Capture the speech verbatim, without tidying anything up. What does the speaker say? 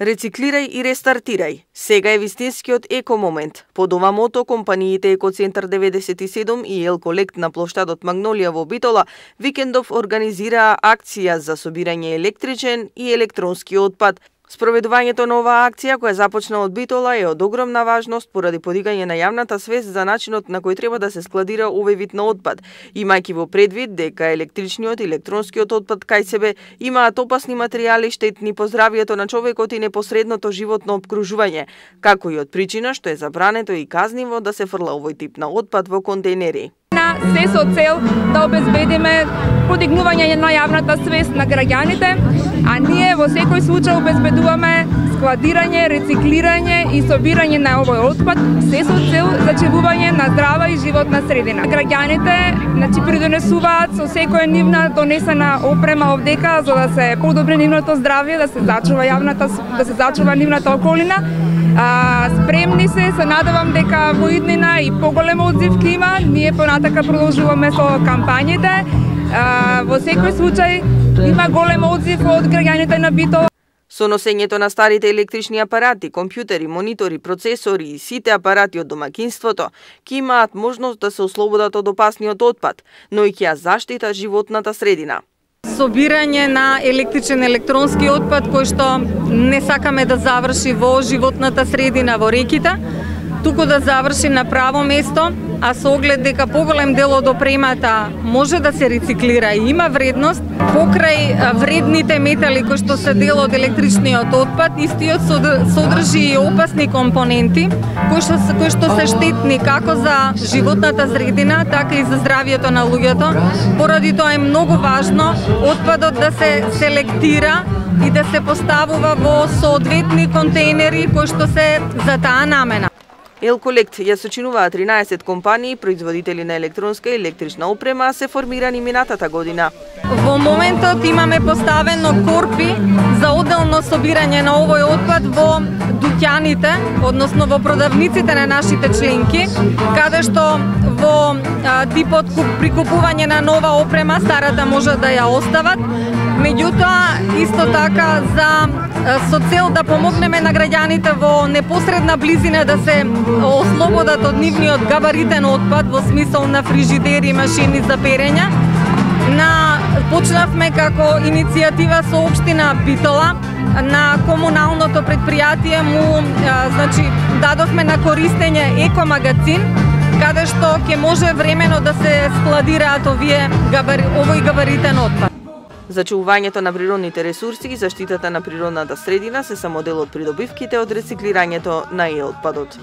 Рециклирај и рестартирај. Сега е вистинскиот еко момент. Под ова мото, компаниите Екоцентар деветдесет и седум и Елколект на плоштадот Магнолија во Битола викендов организираа акција за собирање електричен и електронски отпад. Спроведувањето на оваа акција, која започна од Битола, е од огромна важност поради подигање на јавната свест за начинот на кој треба да се складира овој вид на отпад, имајќи во предвид дека електричниот и електронскиот отпад кај себе имаат опасни материјали штетни по здравието на човекот и непосредното животно обкружување, како и од причина што е забрането и казниво да се фрла овој тип на отпад во контейнери. На се со цел да обезбедиме подигнување на јавната свест на граѓаните, а ние во секој случај обезбедуваме складирање, рециклирање и собирање на овој отпад, се со цел зачевување на здрава и животна средина. Граѓаните значи придонесуваат со секоја нивна донесена опрема овдека за да се подобри нивното здравје, да се зачува јавната, да се зачува нивната околина. А, спремни се, се надевам дека во иднина и поголема одзив ќе има. Ние понатака продолжуваме со кампањите. А, во секој случај има голем одзив од граѓаните на Битола. Со носењето на старите електрични апарати, компјутери, монитори, процесори и сите апарати од домаќинството, ќе имаат можност да се ослободат од опасниот отпад, но и ќе ја заштита животната средина. Собирање на електричен електронски отпад кој што не сакаме да заврши во животната средина во реките, туку да заврши на право место, а со оглед дека поголем дел од опремата може да се рециклира и има вредност, покрај вредните метали кои што се дел од електричниот отпад, истиот содржи и опасни компоненти кои што, кои што се штетни како за животната средина, така и за здравието на луѓето. Поради тоа е многу важно отпадот да се селектира и да се поставува во соодветни контейнери кои што се за таа намена. Елколект ја сочинуваа тринаесет компании, производители на електронска и електрична опрема, се формирани минатата година. Во моментот имаме поставено корпи за одделно собирање на овој отпад во дуќаните, односно во продавниците на нашите членки, каде што во а, типот прикупување на нова опрема, старата може да ја остават. Меѓутоа, исто така, за со цел да помогнеме на граѓаните во непосредна близина да се ослободат од нивниот габаритен отпад во смисол на фрижидери и машини за перење, на почнавме како иницијатива со општина Битола, на комуналното предпријатие му значи дадовме на користење екомагазин, каде што ќе може времено да се складираат овие габари, овој габаритен отпад. Зачувувањето на природните ресурси и заштитата на природната средина се само дел од придобивките од рециклирањето на и отпадот.